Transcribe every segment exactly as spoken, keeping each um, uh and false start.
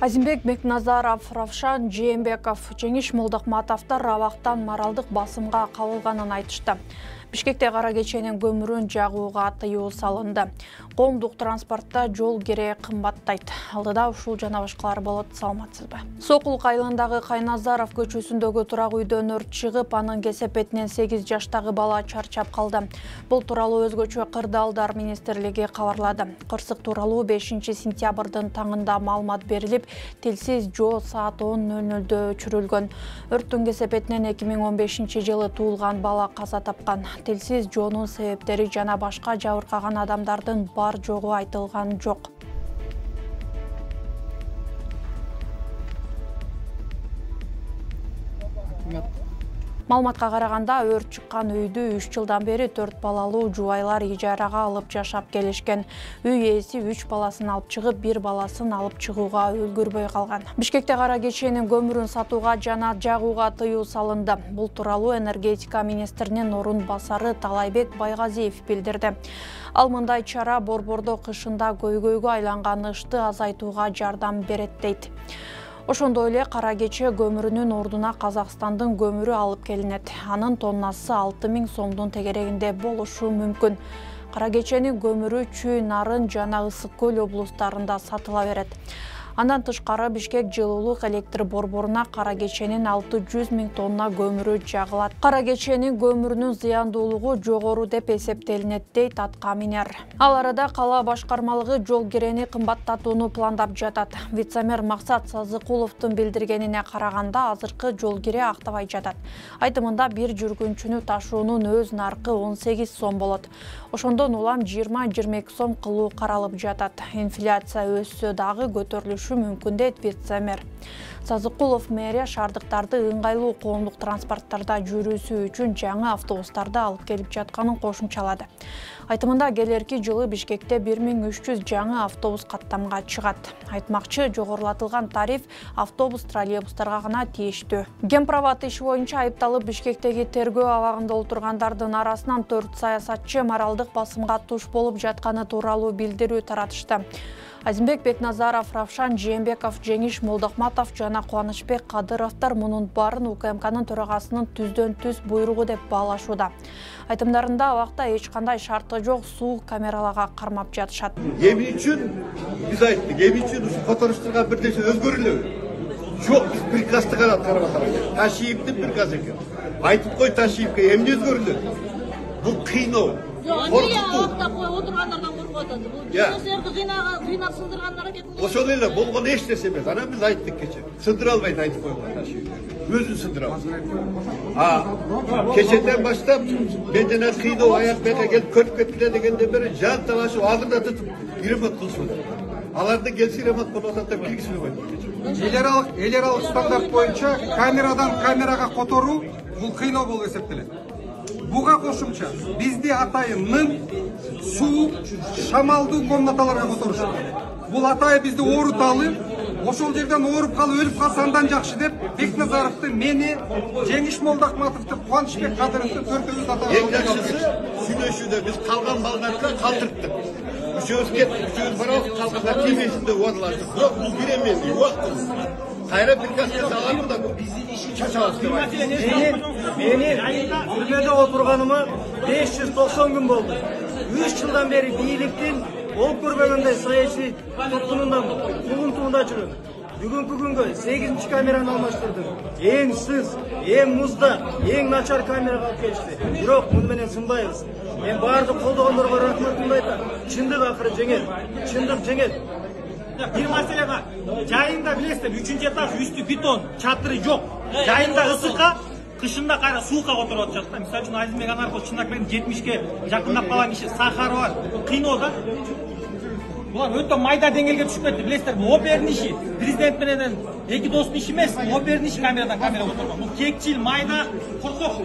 Азимбек Бекназаров, Равшан Жээнбеков, Жеңиш Молдокматовдор абактан моралдык басымга кабылганын айтышты. Бишкекте кара кеченин көмүрүн жагууга тыюу салынды. Коомдук транспортто жол кере кымбаттайт. Алдыда ушул жана башкалар болот, саламатсызбы? Сокулук айылындагы Кайназаров көчөсүндөгү турак үйдөн өрт чыгып, анын кесепетинен сегиз жаштагы бала чарчап калды. Бул тууралуу өзгөчө Кырдаалдар министрлиги кабарлады. Кырсык тууралуу бешинчи сентябрдын таңында маалымат берилип, тилсиз жоо саат он ноль нольдө өчүрүлгөн. Өрттүн кесепетинен эки миң он бешинчи жылы туулган бала каза тапкан. Тилсиз жоонун себептери жана башка жабыркаган адамдардын бар жогу айтылган жок. Маалыматка караганда, өрт чыккан үйдү үч жылдан бери төрт балалуу жубайлар ижарага алып жашап келишкен. Үй ээси үч баласын алып чыгып, бир баласын алып чыгууга үлгүрбөй калган. Бишкекте кара кеченин көмүрүн сатууга жана жагууга тыюу салынды. Бул тууралуу энергетика министринин орун басары Талайбек Байгазиев билдирди. Ал мындай чара Борбордо кышында көйгөйгө айланган ышты азайтууга жардам берет дейт. Ошондой эле кара кече көмүрүнүн ордуна Казакстандын көмүрү алып келинет. Анын тоннасы алты миң сомдун тегерегинде болушу мүмкүн. Кара кеченин көмүрү Чүй, Нарын жана Ысык көл облустарында сатыла берет. Андан тышкары Бишкек жылуулук электр борборуна кара кеченин алты жүз миң тонна көмүрү жагылат. Кара кеченин көмүрүнүн зыяндуулугу жогору деп эсептелинет, дейт аткаминер. Ал арада кала башкармалыгы жол кирени кымбаттатууну пландап жатат. Вице-мэр Максат Сазыкуловдун билдиргенине караганда, азыркы жол кире актабай жатат. Айтымында бир жүргүнчүнү ташуунун өз наркы он сегиз сом болот. Ошондон улам жыйырма жыйырма эки сом кылуу каралып жатат. Инфляция өссө дагы көтөрүлүшү мүмкүн, дейт вице-мэр. Сазыкулов мэрия шаардыктарды ыңгайлуу коомдук транспорттарда жүрүүсү үчүн жаңы автобустарды алып келип жатканын кошумчалады. Айтымында келерки жылы Бишкекте бир миң үч жүз жаңы автобус каттамга чыгат. Айтмакчы, жогорулатылган тариф автобус, троллейбустарга гана тийиштүү. Гемпроват иши боюнча айыпталып Бишкектеги тергөө абагында отургандардын арасынан төрт саясатчы моралдык басымга туш болуп жатканы тууралуу билдирүү таратышты. Азимбек Бекназаров, Равшан Жээнбеков, Жеңиш Молдокматов жана Кубанычбек Кадыровдор мунун баарын УКМКнын төрагасынын түздөн түз буйругу деп баалашууда. Айтымдарында абакта эч кандай шарты жок суу камераларга кармап жатышат. Эмне үчүн биз айттык, эмне үчүн ушу которуштурган бир нерсе өзгөрүлөбү? Жок, биз приказды гана карап атабыз. Ташиевдин приказы экен. Айтып кой Ташиевке, эмне өзгөрүлөт? Бул кыйноо. Ошол эле болгон эч нерсе эмес. Анан биз айттык кече. Сындыра албайт айтып койгон Ташиев. Өзүн сындыра албайт. А кечеден баштап мен жана кыйноо аяк бека келип көрүп кеткиле дегенден бери жан талашып алдында тутуп ремонт кылышып атат. Аларды келси ремонт болуп атат деп киргизбей койду. Элералык элералык стандарт боюнча камерадан камерага которуу бул кыйноо болуп эсептелет. Буга кошумча бизди атайын суу, шамалдуу комнаталарга которушат. Бул атайын бизди ооруталы, ошол жерден ооруп калып өлүп калса андан жакшы деп Бекназаровду, мени, Жеңиш Молдокматовду, Кубанычбек Кадыровду төртөөбүз атайын. Эң жакшысы сүйлөшүүдө биз калган балдарга калтырттык. Үчөөбүз кеттик, үчөөбүз барабыз, калгандар тийбесин деп убадалаштык. Бирок бул биремен убактыбыз. Кайра приказга саламын да чачабыз деп айттым. Мени түрмөдө отурганыма беш жүз токсон күн болду. үч жылдан бери бийликтин болуп көрбөгөндөй саясий туткунунда тугунтуунда жүрөм. Бүгүнкү күнгө сегизинчи камераны алмаштырдым. Эң сыз, эң музда, эң начар камерага алып келишти. Бирок муну менен сынбайбыз. Мен баардык колдогондорго рахматымды айтам. Чындык акыры жеңет. Чындык жеңет. Бир маселе бар. Жайында билесиздер, үчүнчү этаж үстү бетон, чатыры жок. Жайында ысыкка, кышында кайра суука которуп атышат да. Мисалы үчүн Азимбек Анарков чындап менен жетимишке жакындап калган киши сахары бар. Кыйноо да. Булар өтө майда деңгээлге түшүп кетти. Билесиздер, бул опердин иши. Президент менен эки достун иши эмес, опердин иши камерадан камера отурган. Бул кекчил, майда, коркок.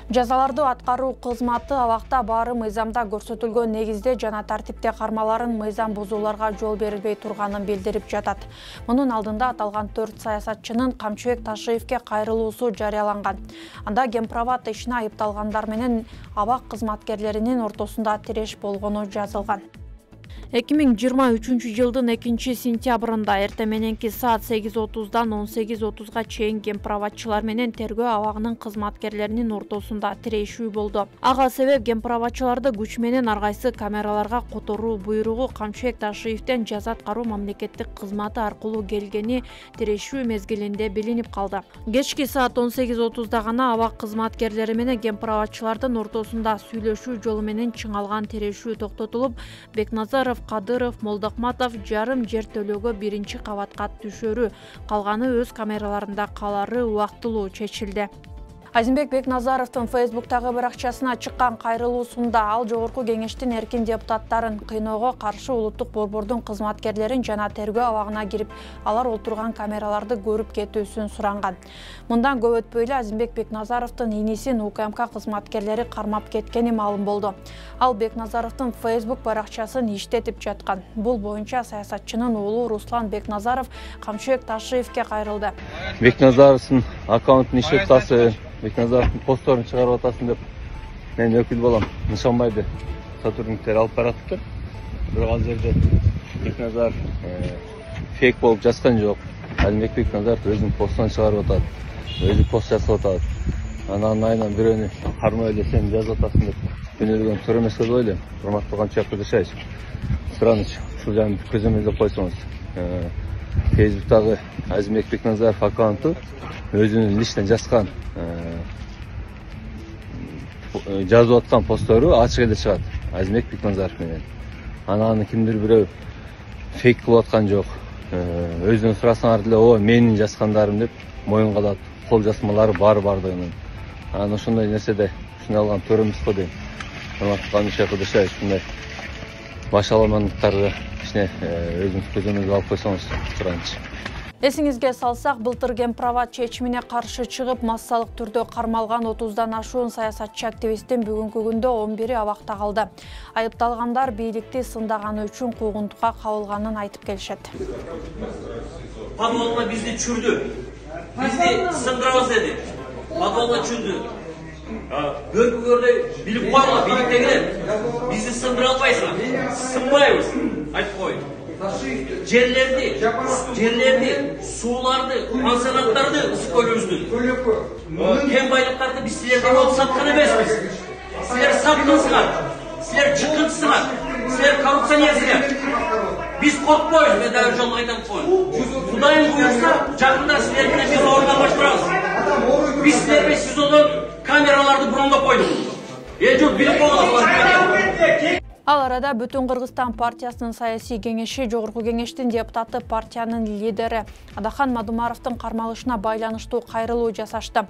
Жазаларды аткаруу кызматы абакта баары мыйзамда көрсөтүлгөн негизде жана тартипте кармаларын мыйзам бузууларга жол берилбей турганын билдирип жатат. Мунун алдында аталган төрт саясатчынын Камчыбек Ташиевке кайрылуусу жарыяланган. Анда Гемпроват ишине айыпталгандар менен абак кызматкерлеринин ортосунда тиреш болгону жазылган. эки миң жыйырма үчүнчү жылдын экинчи сентябрында эртең мененки саат сегиз отуздан он сегиз отузга чейин гемправатчылар менен тергөө абагынын кызматкерлеринин ортосунда тирешүү болду. Ага себеп гемправатчыларды күч менен ар кайсы камераларга которуу буйругу Камчыбек Ташиевден жаза аткаруу мамлекеттик кызматы аркылуу келгени тирешүү мезгилинде билинип калды. Кечки саат он сегиз отузда гана абак кызматкерлери менен гемправатчылардын ортосунда сүйлөшүү жолу менен чыңалган тирешүү токтотулуп, Бекназаров, Кадыров, Молдокматов жарым жер төлөөгө биринчи кабатка түшөрү, калганы өз камераларында калары убактылуу чечилди. Азимбек Бекназаровдун Фейсбуктагы баракчасына чыккан кайрылуусунда ал жогорку кеңештин эркин депутаттарын кыйноого каршы улуттук борбордун кызматкерлерин жана тергөө абагына кирип, алар отурган камераларды көрүп кетүүсүн суранган. Мындан көп өтпөй эле Азимбек Бекназаровдун инисин УКМК кызматкерлери кармап кеткени маалым болду. Ал Бекназаровдун Фейсбук баракчасын иштетип жаткан. Бул боюнча саясатчынын уулу Руслан Бекназаров Камчыбек Ташиевке кайрылды. Бекназаровдун аккаунтун иштеп атасы, Бекназаровдун постторун чыгарып атасың деп мен өкүл балам Нышанбайды сотрудниктер алып баратыптыр. Бирок ал жерде Бекназаров фейк болуп жазган жок. Азимбек Бекназаров өзүнүн постун чыгарып атат, өзү пост жасап атат. Анан айынан бирөөнү кармай эле сен жазып атасың деп күнөөлөгөн туура эмес деп ойлойм. Урматтуу Камчыбек Кудашаевич, Сыраныч, ушул жагын көзөмөлдөп койсоңуз. Фейсбуктагы Азимбек Бекназаров аккаунту өзүнүн личный жазган жазып аткан посттору ачык эле чыгат Азимбек Бекназаров менен. Анан кимдир бирөө фейк кылып аткан жок. Өзүнөн сурасаңар деле, о, менин жазгандарым деп моюнга алат. Кол жазмалары бар бардыгынын. Анан ошондой нерседе ушуну алган туура эмес го дейм. Камчыбек Кудашаевич, ушундай баш аламандыктарды кичине өзүңүз көзөмөлгө алып койсоңуз суранычы. Эсиңизге салсак, былтыр гемправат чечимине каршы чыгып, массалык түрдө кармалган отуздан ашуун саясатчы активисттин бүгүнкү күндө он бири абакта калды. Айыпталгандар бийликти сындаганы үчүн куугунтукка кабылганын айтып келишет. Подвалга бизди чүрдү. Бизди сындырабыз деди. Подвалга чүрдү. Көрпү көрдөй билип койгула, бийликтегилер. Бизди сындыра албайсыңар. Сынбайбыз. Айтып коюн. Жерлерди, жерлерди, сууларды, пансионаттарды ысык көлөбүздү. Кен байлыктарды биз силерден алып саткан эмеспиз. Силер саттыңыздар, силер чыккынсыңар, силер коррупционерсиңер. Биз коркпойбуз, мен дагы жолго айтам коюн. Кудайым буйрса, жакында силер менен бир орунга баштырабыз. Биз силер менен СИЗОдон камераларды брондоп койдук. Эл журт билип койгула. Ал арада Бүтүн Кыргызстан партиясынын саясий кеңеши жогорку кеңештин депутаты партиянын лидери Адахан Мадумаровдун кармалышына байланыштуу кайрылуу жасашты.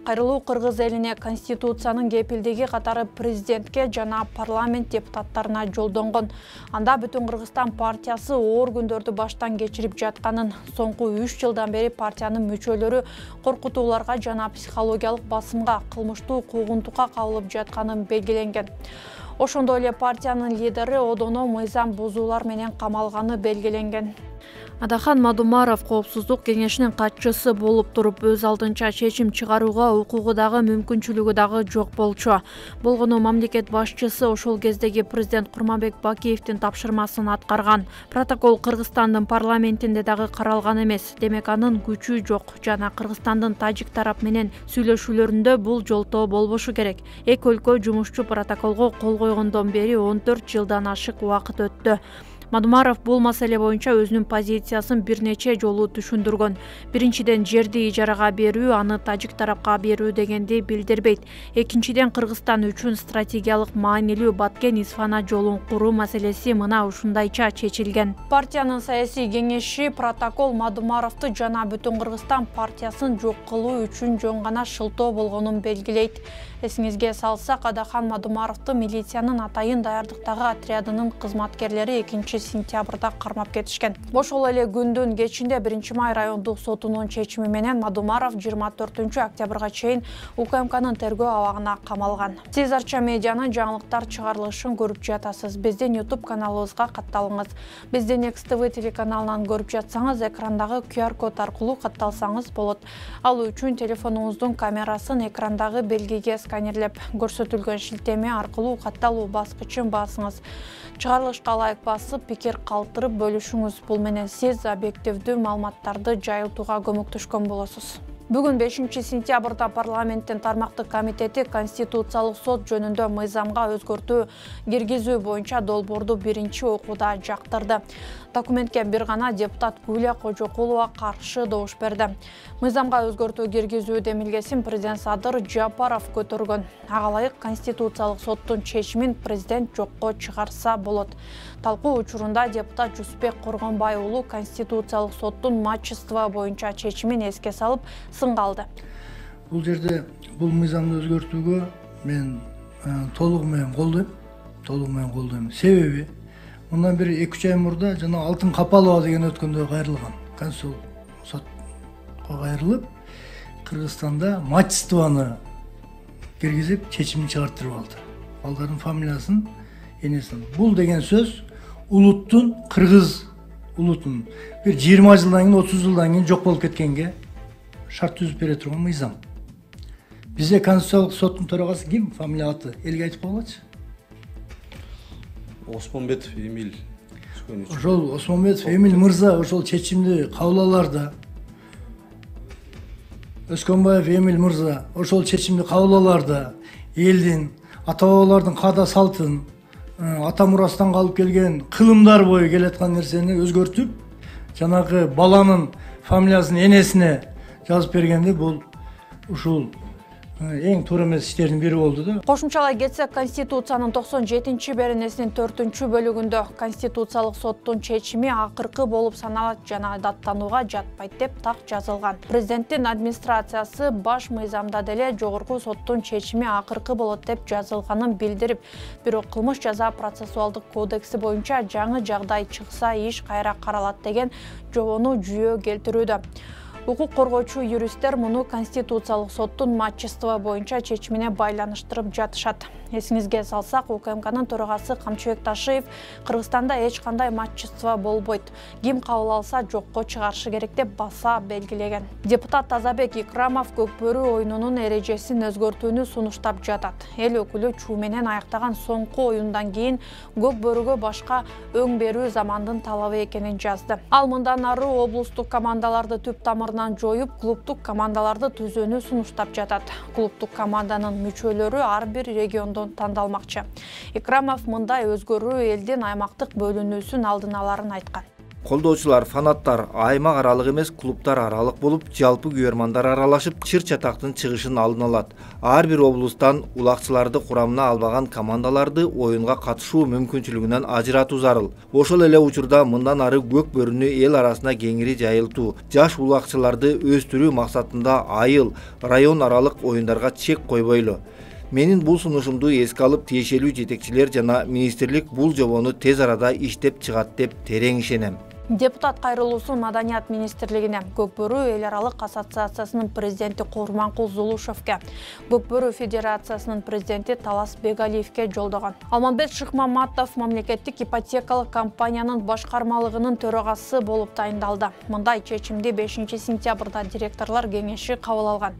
Кайрылуу кыргыз элине Конституциянын кепилдиги катары президентке жана парламент депутаттарына жолдонгон. Анда Бүтүн Кыргызстан партиясы оор күндөрдү баштан кечирип жатканын, соңку үч жылдан бери партиянын мүчөлөрү коркутууларга жана психологиялык басымга, кылмыштуу куугунтукка кабылып жатканын белгиленген. Ошондой эле партиянын лидери одоно мыйзам бузуулар менен камалганы белгиленген. Адахан Мадумаров коопсуздук кеңешинин катчысы болуп туруп, өз алдынча чечим чыгарууга укугу дагы мүмкүнчүлүгү дагы жок болчу. Болгону мамлекет башчысы ошол кездеги президент Курманбек Бакиевдин тапшырмасын аткарган. Протокол Кыргызстандын парламентинде дагы каралган эмес. Демек анын күчү жок жана Кыргызстандын тажик тарап менен сүйлөшүүлөрүндө бул жолтоо болбошу керек. Эки өлкө жумушчу протоколго кол койгондон бери он төрт жылдан ашык убакыт өттү. Мадумаров бул маселе боюнча өзүнүн позициясын бир нече жолу түшүндүргөн. Биринчиден, жерди ижарага берүү, аны тажик тарапка берүү дегенди билдирбейт. Экинчиден, Кыргызстан үчүн стратегиялык маанилүү Баткен-Исфана жолун куруу маселеси мына ушундайча чечилген. Партиянын саясий кеңеши протокол Мадумаровду жана Бүтүн Кыргызстан партиясын жок кылуу үчүн жөн гана шылтоо болгонун белгилейт. Эсиңизге салсак, Адахан Мадумаровду милициянын атайын даярдыктагы отрядынын кызматкерлери экинчи сентябрда кармап кетишкен. Ошол эле күндүн кечинде биринчи май райондук сотунун чечими менен Мадумаров жыйырма төртүнчү октябрга чейин УКМКнын тергөө абагына камалган. Сиз Арча медианын жаңылыктар чыгарылышын көрүп жатасыз. Биздин YouTube каналыбызга катталыңыз. Биздин Экс тэ вэ телеканалынан көрүп жатсаңыз, экрандагы ку ар код аркылуу катталсаңыз болот. Ал үчүн телефонуңуздун камерасын экрандагы белгиге сканерлеп, көрсөтүлгөн шилтеме аркылуу катталуу баскычын басыңыз. Чыгарылышка ылайык басып, пикир калтырып бөлүшүңүз. Бул менен сиз объективдүү маалыматтарды жайылтууга көмөктөшкөн болосуз. Бүгүн бешинчи сентябрда парламенттин тармактык комитети Конституциялык сот жөнүндө мыйзамга өзгөртүү киргизүү боюнча долбоорду биринчи окууда жактырды. Документке бир гана депутат Гүлия Кожокулова каршы добуш берди. Мыйзамга өзгөртүү киргизүү демилгесин президент Садыр Жапаров көтөргөн. Ага ылайык Конституциялык соттун чечимин президент жокко чыгарса болот. Талкуу учурунда депутат Жусупбек Коргонбай уулу Конституциялык соттун матчество боюнча чечимин эске салып сынга алды. Бул жерде бул мыйзамды өзгөртүүгө мен толугу менен колдойм. Толугу менен колдойм. Себеби мындан бери эки үч ай мурда жана Алтын Капалова деген өткөндө кайрылган. Конституциялык сотко кайрылып, Кыргызстанда матчествону киргизип чечимин чыгартырып алды. Балдардын фамилиясын энесин. Бул деген сөз улуттун, кыргыз улутун бир жыйырма жылдан кийин, отуз жылдан кийин жок болуп кеткенге шарт түзүп бере турган мыйзам. Бизде Конституциялык соттун төрагасы ким? Фамилия аты элге айтып койгулачы. Осмонбетов Эмиль. Ошол Осмонбетов Эмиль мырза ошол чечимди кабыл аларда. Өскөнбаев Эмиль мырза ошол чечимди кабыл аларда элдин, ата-бабалардын каада салтын, ата мурастан калып келген кылымдар бою келаткан нерсени өзгөртүп, жанагы баланын фамилиясын энесине жазып бергенде бул ушул эң туура эмес иштердин бири болду да. Кошумчалай кетсек, Конституциянын токсон жетинчи беренесинин төртүнчү бөлүгүндө Конституциялык соттун чечими акыркы болуп саналат жана даттанууга жатпайт деп так жазылган. Президенттин администрациясы баш мыйзамда деле жогорку соттун чечими акыркы болот деп жазылганын билдирип, бирок кылмыш жаза процессуалдык кодекси боюнча жаңы жагдай чыкса иш кайра каралат деген жобону жүйө келтирүүдө. Укук коргоочу юристтер муну Конституциялык соттун матчество боюнча чечимине байланыштырып жатышат. Эсиңизге салсак, УКМКнын төрагасы Камчыбек Ташиев Кыргызстанда эч кандай матчество болбойт. Ким кабыл алса жокко чыгарышы керек деп баса белгилеген. Депутат Тазабек Икрамов Көкбөрү оюнунун эрежесин өзгөртүүнү сунуштап жатат. Эл өкүлү чуу менен аяктаган соңку оюндан кийин Көкбөрүгө башка өң берүү замандын талабы экенин жазды. Ал мындан ары облустук командаларды түп тамырынан жоюп, клубтук командаларды түзүүнү сунуштап жатат. Клубтук команданын мүчөлөрү ар бир региондон тандалмакчы. Икрамов мындай өзгөрүү элдин аймактык бөлүнүүсүн алдын аларын айткан. Колдоочулар, фанаттар аймак аралык эмес, клубтар аралык болуп, жалпы күйөрмандар аралашып, чыр-чатактын чыгышын алдын алат. Ар бир облустан улакчыларды курамына албаган командаларды оюнга катышуу мүмкүнчүлүгүнөн ажыратуу зарыл. Ошол эле учурда мындан ары Көкбөрүнү эл арасына кеңири жайылтуу, жаш улакчыларды өстүрүү максатында айыл, район аралык оюндарга чек койбойлу. Менин бул сунушумду эске алып, тиешелүү жетекчилер жана министрлик бул жобону тез арада иштеп чыгат деп терең ишенем. Депутат кайрылуусу Маданият министрлигине, Көкбөрү эл аралык ассоциациясынын президенти Курманкул Зулушевке, Көкбөрү федерациясынын президенти Талас Бегалиевке жолдогон. Алмамбет Шыкмаматов мамлекеттик ипотекалык компаниянын башкармалыгынын төрагасы болуп тайындалды. Мындай чечимди бешинчи сентябрда директорлор кеңеши кабыл алган.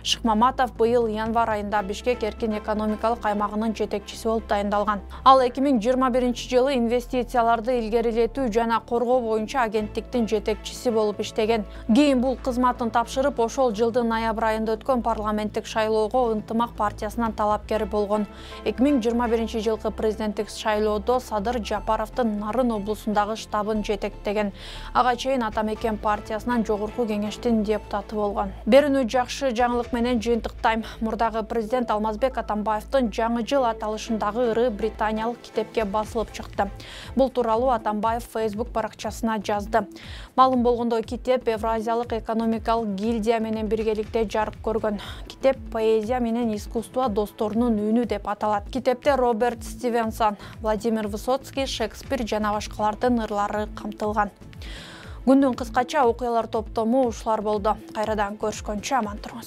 Шыкмаматов быйыл январь айында Бишкек эркин экономикалык аймагынын жетекчиси болуп тайындалган. Ал эки миң жыйырма биринчи жылы инвестицияларды илгерилетүү жана коргоо боюнча агенттиктин жетекчиси болуп иштеген. Кийин бул кызматын тапшырып, ошол жылдын ноябрь айында өткөн парламенттик шайлоого Ынтымак партиясынан талапкер болгон. эки миң жыйырма биринчи жылкы президенттик шайлоодо Садыр Жапаровдун Нарын облусундагы штабын жетектеген. Ага чейин Атамекен партиясынан жогорку кеңештин депутаты болгон. Берүүнү жакшы жаңылык менен жыйынтыктайм. Мурдагы президент Алмазбек Атамбаевдин жаңы жыл аталышындагы ыры британиялык китепке басылып чыкты. Бул тууралуу Атамбаев Facebook баракчасында арнасына жазды. Маалым болгондой, китеп Евразиялык экономикалык гильдия менен биргеликте жарык көргөн. Китеп поэзия менен искусство досторунун үнү деп аталат. Китепте Роберт Стивенсон, Владимир Высоцкий, Шекспир жана башкалардын ырлары камтылган. Күндүн кыскача окуялар топтому ушулар болду. Кайрадан көрүшкөнчө аман туруңуз.